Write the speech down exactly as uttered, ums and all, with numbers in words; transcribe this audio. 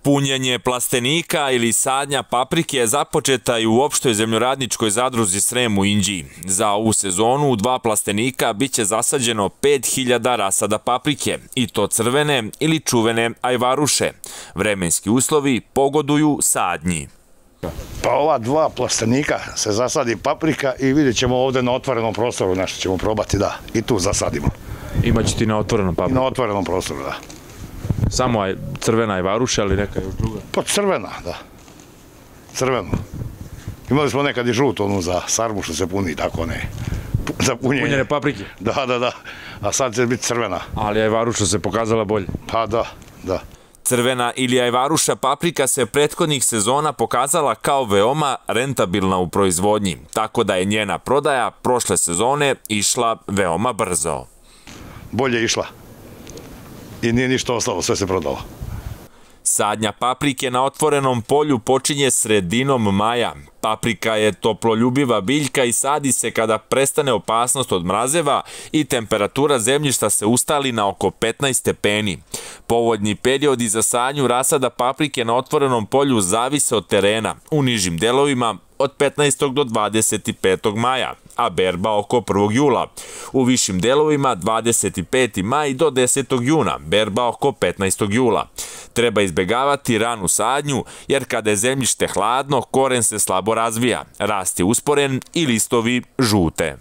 Punjenje plastenika ili sadnja paprike je započeta i u opštoj zemljoradničkoj zadruzi Srem u Inđiji. Za ovu sezonu u dva plastenika biće zasađeno pet hiljada rasada paprike, i to crvene ili čuvene ajvaruše. Vremenski uslovi pogoduju sadnji. Pa ova dva plastenika se zasadi paprika i vidjet ćemo ovdje na otvorenom prostoru nešto ćemo probati, da, i tu zasadimo. Imaće ti na otvorenom papriku? I na otvorenom prostoru, da. Samo crvena ajvaruša ili neka još druga? Pa crvena, da. Crvenu. Imali smo nekad i žutu onu za sarmu što se puni, tako ne. Za punjenje. Punjene paprike? Da, da, da. A sad će biti crvena. Ali ajvaruša se pokazala bolje? Pa da, da. Crvena ili ajvaruša paprika se prethodnih sezona pokazala kao veoma rentabilna u proizvodnji, tako da je njena prodaja prošle sezone išla veoma brzo. Bolje išla. I nije ništa ostalo, sve se prodalo. Sadnja paprike na otvorenom polju počinje sredinom maja. Paprika je toploljubiva biljka i sadi se kada prestane opasnost od mrazeva i temperatura zemljišta se ustali na oko petnaest stepeni. Povoljni periodi za sadnju rasada paprike na otvorenom polju zavise od terena, u nižim delovima od petnaestog do dvadeset petog maja, a berba oko prvog jula. U višim delovima dvadeset peti maj do desetog juna, berba oko petnaestog jula. Treba izbegavati ranu sadnju, jer kada je zemljište hladno, koren se slabo razvija, rast je usporen i listovi žute.